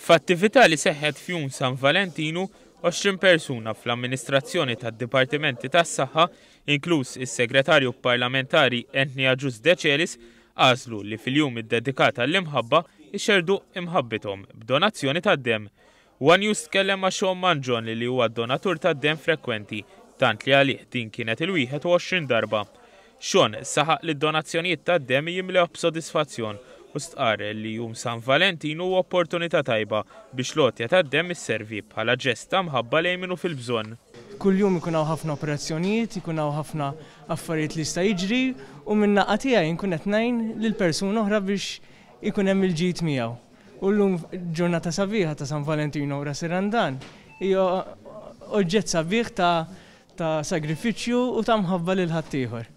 F'attività li seħħet f'Jum San Valentinu, 20 persuna fl-amministrazzjoni tad-Dipartimenti tas-Saħħa, inkluż is-Segretarju Parlamentari Anthony Agius Decelis, għażlu li fil-jum iddedikat għall-imħabba jxerrdu imħabbithom b'donazzjoni tad-demm. One News tkellem ma' Sean Mangion li huwa donatur tad-demm frekwenti, tant li għalih din kienet il-21 darba. Sean saħaq li d-donazzjonijiet tad-demm jimlewh b'sodisfazzjon u stqarr li Jum San Valentinu huwa opportunità tajba biex l-għotja tad-demm isservi bħala ġest ta' mħabba lejn min hu fil-bżonn. Kuljum ikun hawn ħafna operazzjonijiet, ikun hawn ħafna affarijiet li jista' jiġri u min-naqa tiegħi nkun qed ngħin lil persuna oħra biex ikun hemm il-ġid miegħu. U llum ġurnata sabiħa ta' San Valentino u Ras ir-Randan hija oġġett sabiħ ta' ta' sagrifiċċju u ta' mħabba lil ħaddieħor.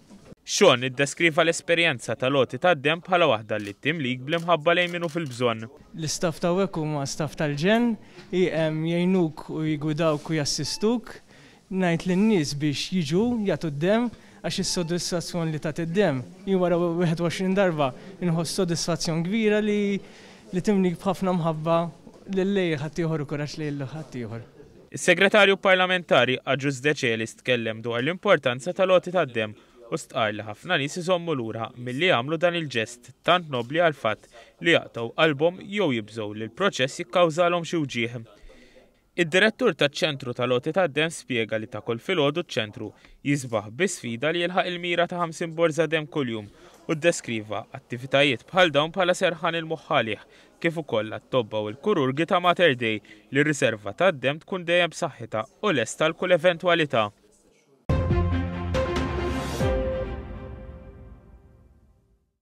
Sean iddeskriva l-esperjenza tal-għoti tad-demm bħala waħda li timlik bl-imħabba lejn min hu fil-bżonn. L-istaff t'hawnhekk huma staff tal-ġenn, jgħinuk u jiggwidawk u jassistuk. Ngħid lin-nies biex jiġu jagħtu d-demm għax is-sodisfazzjon li tagħti d-demm, jien wara 21 darba nħoss sodisfazzjon kbira li li timlik b'ħafna mħabba lil lejn ħaddieħor u kuraġġ lejn ħaddieħor. Is-Segretarju Parlamentari Agius Decelis tkellem dwar l-importanza tal-għoti tad-demm u stqarr li ħafna nies iżommu lura milli jagħmlu dan il-ġest tant nobbli għall-fatt li jaqtgħu qalbhom jew jibżgħu li l-proċess jikkawżalhom xi wġigħ. Id-Direttur taċ-Ċentru tal-Għoti tad-Demm spjega li ta' kull filgħodu ċ-ċentru jisbaħ bi sfida li jilħaq il-mira ta' 50 borża demm kuljum u ddeskriva attivitajiet bħal dawn bħala serħan il-moħħ għalih kif ukoll għat-tobba u l-kururgi ta' Mater Dei li r-riserva tad-demm tkun dejjem b'saħħitha u lesta għal kull eventwalità.